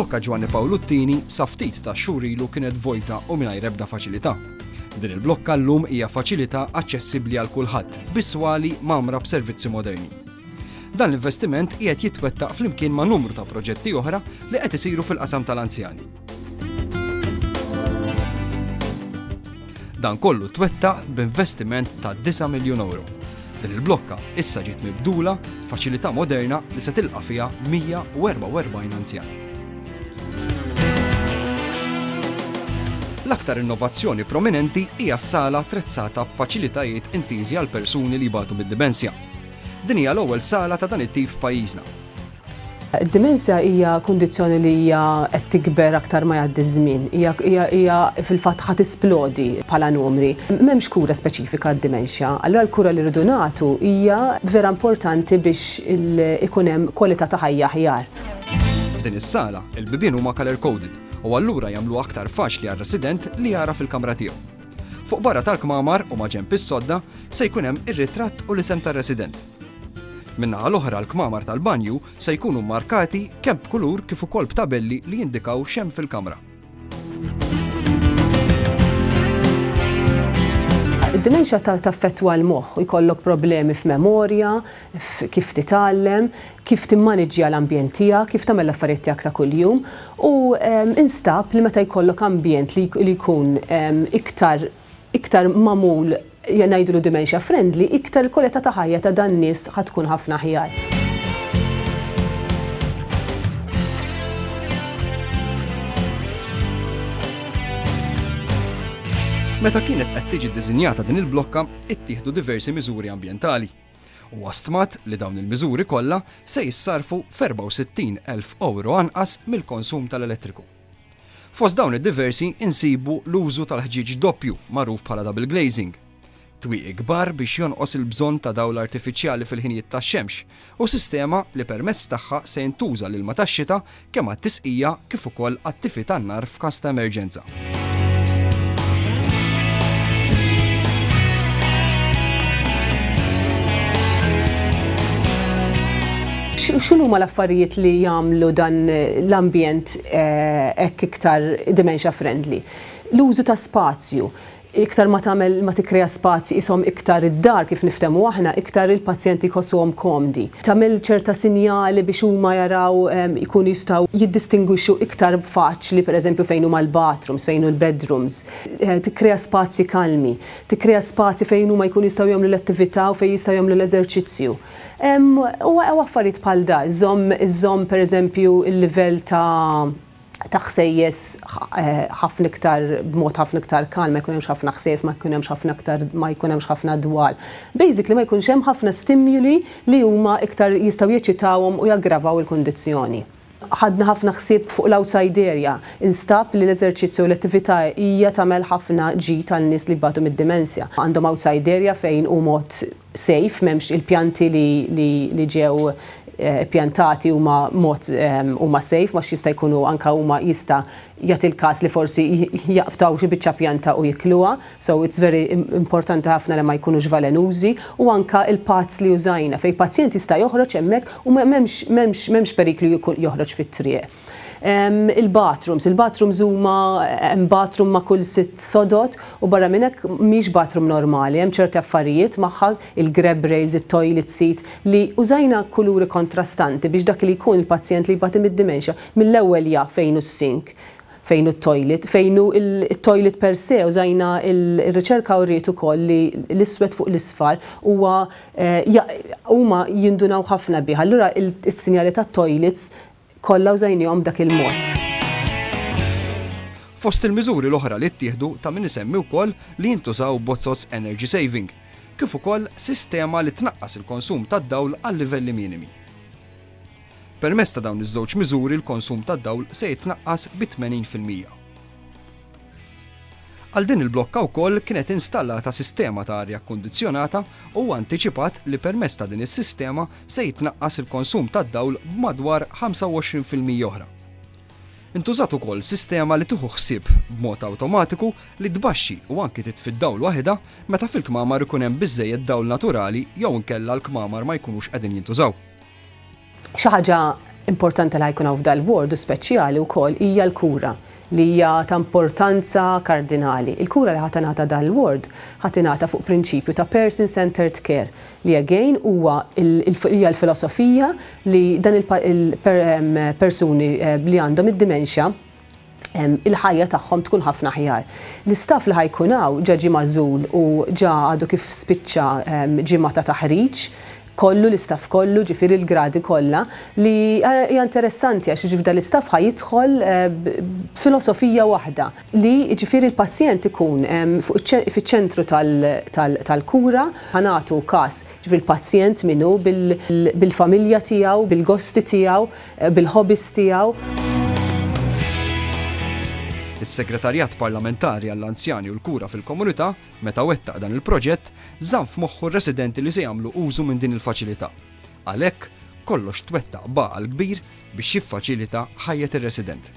Il-blokka Ġwanni Pawlu t-Tieni sa ftit tax-xhur ilu kienet vojta u mingħajr ebda faċilità. Din il-blokka llum hija faċilità aċċessibbli għal kulħadd, bi swali mgħammra b'servizzi moderni. Dan l-investiment qiegħed jitwettaq flimkien ma' numru ta' proġetti oħra li qed isiru fil-qasam tal-anzjani. Dan kollu twettaq b'investiment ta' 9 miljun ewro. Din il-blokka issa ġiet mibdula f'faċilità moderna li se tilqa' fiha 144 anzjan. L-aktar innovazzjoni prominenti hija s-sala attrezzata b'faċilitajiet intiżi għal persuni li jbatu mid-dimensja. Din hija l-ewwel sala ta' dan it-tip f'pajjiżna. Id-dimensja hija kundizzjoni li hija qed tikber aktar ma jgħaddi ż-żmien. Hija hija fil-fatt ħa tisplodi bħala numri. M'hemmx kura speċifika għad-dimensja. Allura l-kura li rridu nagħtu hija vera importanti biex ikun hemm kwalità ta' ħajja aħjar. F'din is-sala, il-bibien huma colour coded u allura jagħmluha aktar faċli għar-resident li jagħraf il-kamra tiegħu. Fuq barra tal-kmamar u maġenb is-sodda se jkun hemm ir-ritratt u l-isem tar-resident. Min-naħa l-oħra l-kmamar tal-banju se jkunu mmarkati kemm b'kulur kif ukoll b'tabelli li jindikaw x'hemm fil-kamra. Id-dimensja taffettwa l-moħħ, jkollok problemi f'memorja, kif titgħallem, kif timmaniġġja l-ambjent tiegħek, kif tagħmel l-affarijiet tiegħek ta' kuljum u instab li meta jkollok ambjent li jkun iktar iktar magħmul ngħidulu dementia friendly, iktar il-kwalità ta' ħajja ta' dan nies ħa tkun ħafna aħjar. Meta kienet qed tiġi ddisinjata din il-blokka, ittieħdu diversi miżuri ambjentali. Huwa stmat li dawn il-miżuri kollha se jissarrfu f'64,000 ewro anqas mill-konsum tal-elettriku. Fost dawn id-diversi insibu l-użu tal-ħġieġ doppju magħruf bħala double glazing, twieqi kbar biex jonqos il-bżonn ta' dawl artifiċjali fil-ħinijiet tax-xemx u sistema li permezz tagħha se jintuża l-ilma tax-xita kemm għat-tisqija kif ukoll għat-tifi tan-nar f'każ ta' emerġenza. X'inhuma l-affarijiet li jagħmlu dan l-ambjent eh, hekk iktar dementia friendly? L-użu ta' spazju iktar ma tagħmel ma tikkrea spazji ishom iktar id-dar kif niftehmu aħna, iktar il-pazjenti jħossuhom komdi. Tagħmel ċerta sinjali biex huma jaraw ikunu jistgħu jiddistingwixxu iktar faċli pereżempju fejn huma l-bathrooms, fejn hu l-bedrooms. Eh, tikkrea spazji kalmi, tikkrea spazji fejn huma jkunu jistgħu jagħmlu l-attività u fejn jistgħu jagħmlu l-eżerċizzju. U affarijiet bħal da, żomm iżomm pereżempju il-livell ta' ta' ħsejjes eh, ħafna iktar b'mod ħafna iktar kalm, ma jkun hemmx ħafna ħsejjes, ma jkun hemmx ħafna iktar ma jkun hemmx ħafna dwal. Basically ma jkunx hemm ħafna stimuli li huma iktar jistgħu jeċitawhom u jaggravaw il-kundizzjoni. Ħadna ħafna ħsieb fuq l-outside area. Instab li l-eżerċizzju u l-attività hija tagħmel ħafna ġid għal nies li jbatu mid-dimensja. Għandhom outside area fejn hu mod safe, m'hemmx il-pjanti li, li, li ġew eh, pjantati huma mod eh, huma safe, ma jista' jkunu anka huma jista' jagħti l-każ li forsi jaqbtaw xi biċċa pjanta u jikluha. So it's very importanti ħafna li ma jkunux velenużi u anka il-paths li użajna fej pazjent jista' joħroġ hemmhekk u m'hemmx m'hemmx m'hemmx periklu joħroġ fit-triq. Il-bathrooms, il-bathrooms huma hemm bathroom ma' kull sitt sodod u barra minn hekk mhix bathroom normali, hemm ċerti affarijiet magħha, il-grab rails, it-toilet seat li użajna kuluri kontrastanti biex dak li jkun il-pazjent li jbati mid-dementia mill-ewwel jaf fejn hu s-sink fejn hu t-toilet, fejn hu il-toilet per se, użajna il-riċerka uriet ukoll li l-iswed fuq l-isfar huwa eh, huma jindunaw ħafna bih. Allura il-sinjali tat-toilets kollha użajnihom b'dak il-mod. Fost il-miżuri l-oħra li ttieħdu ta' min isemmi wkoll li jintużaw bozoz energy saving, kif ukoll sistema li tnaqqas il-konsum tad-dawl għal livelli minimi. Permezz ta' dawn iż-żewġ miżuri l-konsum tad-dawl se jitnaqqas bi 80%. Għal din il-blokka wkoll kienet installata sistema ta' arja kkundizzjonata u huwa antiċipat li permezz ta' din is-sistema se jitnaqqas il-konsum tad-dawl b'madwar 25% oħra. Intużat ukoll sistema li tieħu ħsieb b'mod awtomatiku li tbaxxi u anki titfi d-dawl waħidha meta fil-kmamar ikun hemm biżżejjed dawl naturali jew inkella l-kmamar ma jkunux qegħdin jintużaw. Xi ħaġa importanti li ħa jkun hawn f'dal-ward u speċjali wkoll hija l-kura li hija ta' importanza kardinali. Il-kura li ħa tingħata dal-ward ħa tingħata fuq prinċipju ta' person-centered care li again huwa hija l-filosofija li dan il-persuni li għandhom id-dimensja il-ħajja tagħhom tkun ħafna aħjar. L-istaff li ħa jkun hawn ġa ġie magħżul u ġa għadu kif spiċċa ġimgħa ta' taħriġ kollu l-istaff kollu, ġifieri l-gradi kollha, li hija interessanti għax ġifieri l-istaff ħa jidħol b'filosofija waħda li ġifieri l-pazjent ikun fiċ-ċentru tal-kura, ħa nagħtu każ ġifieri l-pazjent min hu bil-familja tiegħu, bil-gosti tiegħu, bil-hobbies tiegħu. Is-Segretarjat Parlamentari għall-Anzjani u l-Kura fil-Komunità, meta wettaq dan il-proġett, żamm f'moħħu r-residenti li se jagħmlu użu minn din il-faċilità. Għalhekk, kollox twettaq b'għaqal kbir biex jiffaċilita ħajjet ir-resident.